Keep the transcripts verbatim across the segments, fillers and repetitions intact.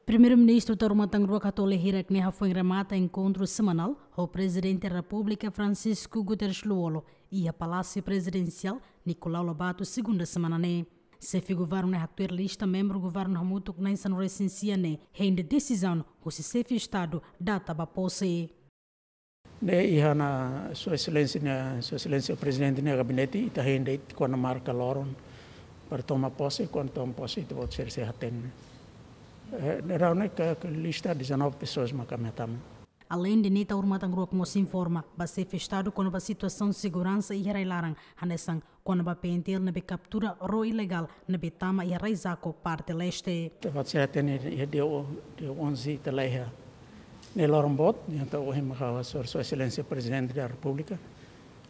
Primeiru-Ministru Taur Matan Ruak Hatoli Hirak ne'e hafoin remata enkontru semanál ho Prezidente Repúblika Francisco Guterres Lú-Olo iha Palásiu Prezidensiál Nicolau Lobato, segunda semana ne'e. Xefe governu ne'e haktuir lista membru governu hamutuk na'in-sanulu-resin-sia ne'e hein de'it desizaun husi xefe Estadu data ba pose. Ne'e iha ona Sua Exelénsia ne'e, Sua Exelénsia Prezidente nia gabinete, ita hein de'it kuandu marka loron para toma posse, kuandu toma posse ita-boot sira sei hatene. Eh, ne'e daudaun ne'e ka, ka lista dezanove pessoas mak ami hatama. Aleinde ne'e, Taur Matan Ruak mós informa ba xefe Estadu kona-ba situasaun seguransa iha rai-laran, hanesan kona-ba P N T L ne'ebé kaptura ró ilegál ne'ebé tama iha rai Jaco, parte leste. Ita-boot sira hatene iha dia, dia onze ita laiha. Ne'e loron boot, entaun ohin mak ha'u hasoru Sua Exelénsia Prezidente da Repúblika,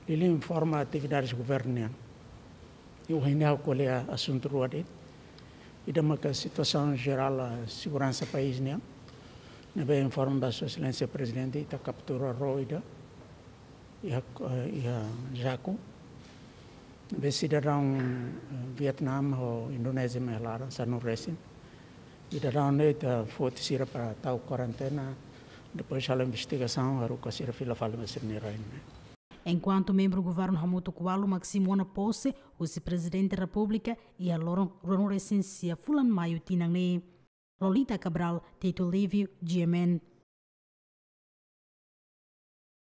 liuliu informa atividades governu nian. I ohin ne'e ha'u ko'alia asuntu rua de'it. Ida maka situasaun jerál, ah, seguransa país nian. Ne'ebé informa ba Sua Exelénsia Prezidente ita kaptura ró ida iha, eh, iha Jaco. Ne'ebé sidadaun, eh, Vietname ho Indonézia mak iha laran, sanulu-resin. Sidadaun ne'e ita foti sira para tau kuarentena, depois halo investigasaun, haruka sira fila fali ba sira-nia rai ne'e. Enkuantu membru governu hamutuk ualu mak simu ona pose husi Prezidente Repúblika iha loron ruanulu-resin-sia fulan Maiu tinan ne'e. Lolita Cabral, Tito Livio, G M N.